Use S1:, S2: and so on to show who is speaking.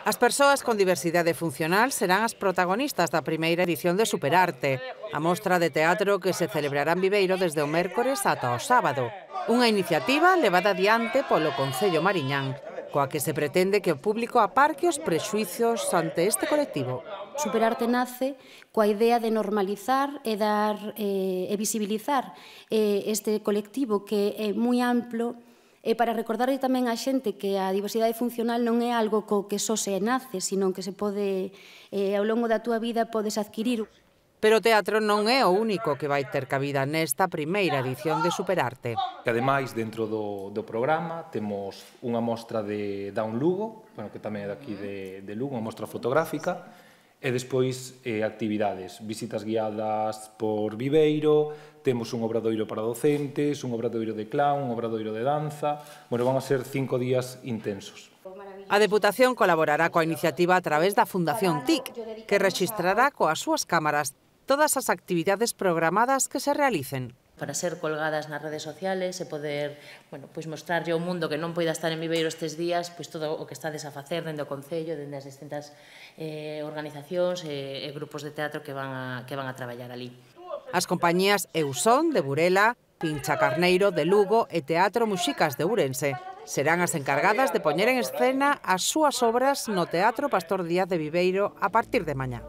S1: As persoas con diversidade funcional serán as protagonistas da primeira edición de Superarte, a mostra de teatro que se celebrará en Viveiro desde o mércores ata o sábado. Unha iniciativa levada adiante polo Concello Mariñán, coa que se pretende que o público aparque os prexuizos ante este colectivo.
S2: Superarte nace coa idea de normalizar e visibilizar este colectivo que é moi amplo, e para recordarlle tamén á xente que a diversidade funcional non é algo co que só se nace, sino que se pode, ao longo da túa vida, podes adquirir.
S1: Pero o teatro non é o único que vai ter cabida nesta primeira edición de Superarte.
S3: Ademais, dentro do programa, temos unha mostra de Down Lugo, que tamén é daqui de Lugo, unha mostra fotográfica, e despois actividades, visitas guiadas por Viveiro, temos un obradoiro para docentes, un obradoiro de clown, un obradoiro de danza. Van a ser 5 días intensos.
S1: A Deputación colaborará coa iniciativa a través da Fundación TIC, que rexistrará coas súas cámaras todas as actividades programadas que se realicen.
S4: Para ser colgadas nas redes sociales e poder mostrarlle ao mundo que non poida estar en Viveiro estes días todo o que estades a facer dende o Concello, dende as distintas organizacións e grupos de teatro que van a traballar ali.
S1: As compañías Eusón, de Burela, Pincha Carneiro, de Lugo e Teatro Muxicas, de Ourense serán as encargadas de poñer en escena as súas obras no Teatro Pastor Díaz de Viveiro a partir de mañá.